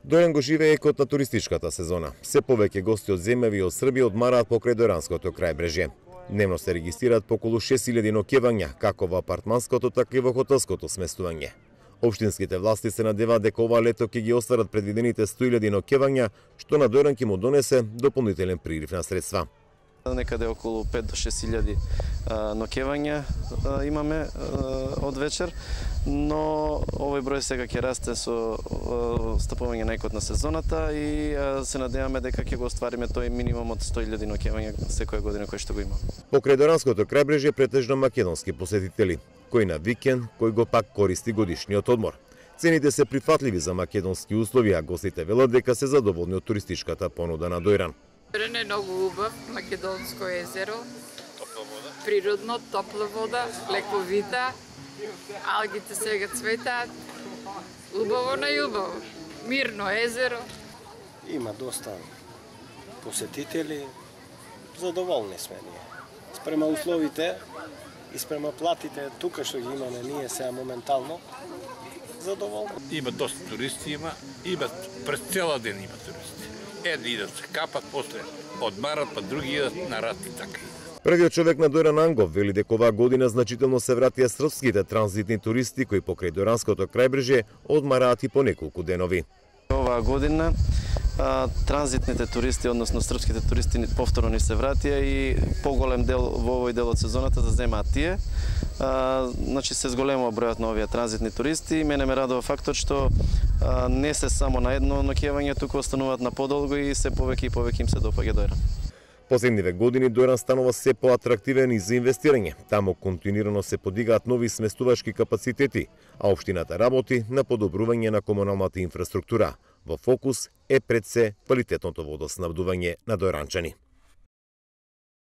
Дојан го живее екот на туристичката сезона. Се повеќе гости од земјави и од Србија одмараат покрај Дојранското крајбрежје. Дневно се регистрираат поколу 6000 ноќевања, како во апартманското, така и во хотелското сместување. Општинските власти се надеваат дека ова лето ќе ги остварат предвидените 100.000 ноќевања, што на Дојран ќе му донесе дополнителен прилив на средства. Некаде околу 5 до 6.000 ноќевања имаме од вечер, но овој број сега ќе расте со стапување на екот на сезоната и се надеваме дека ќе го оствариме тој минимум од 100.000 ноќевања секоја година кој што го има. Покрај Дојранското крајбрежје претежно македонски посетители, кој на викенд, кој го пак користи годишниот одмор. Цените се прифатливи за македонски услови, а гостите велат дека се задоволни од туристичката понуда на Дојран. Дојран е многу убав, македонско езеро, природно, топла вода, лековита, алгите сега цветаат, убаво на убаво, мирно езеро. Има доста посетители, задоволни сме ние. Спрема условите и спрема платите тука што ги имаме ние сега моментално, задоволни. Има доста туристи, има през цела ден има туристи. Едни идат се капат, после одмарат, па други идат на рат и така. Првиот човек на Дојран Ангов вели дека оваа година значително се вратија српските транзитни туристи кои покрај Дојранското крајбрежје одмараат и по неколку денови. Оваа година транзитните туристи, односно српските туристи повторно ни се вратија и поголем дел во овој дел од сезоната заземаат тие. Значи се зголемува бројот на овие транзитни туристи. Мене ме радува фактот што не се само на едно ноќевање, туку остануваат на подолго и се повеќе и повеќе им се допаѓа Дојран. Последниве години Дојран станува се поатрактивен и за инвестирање. Таму континуирано се подигаат нови сместувачки капацитети, а општината работи на подобрување на комуналната инфраструктура. Во фокус е пред се квалитетното водоснабдување на дојранчани.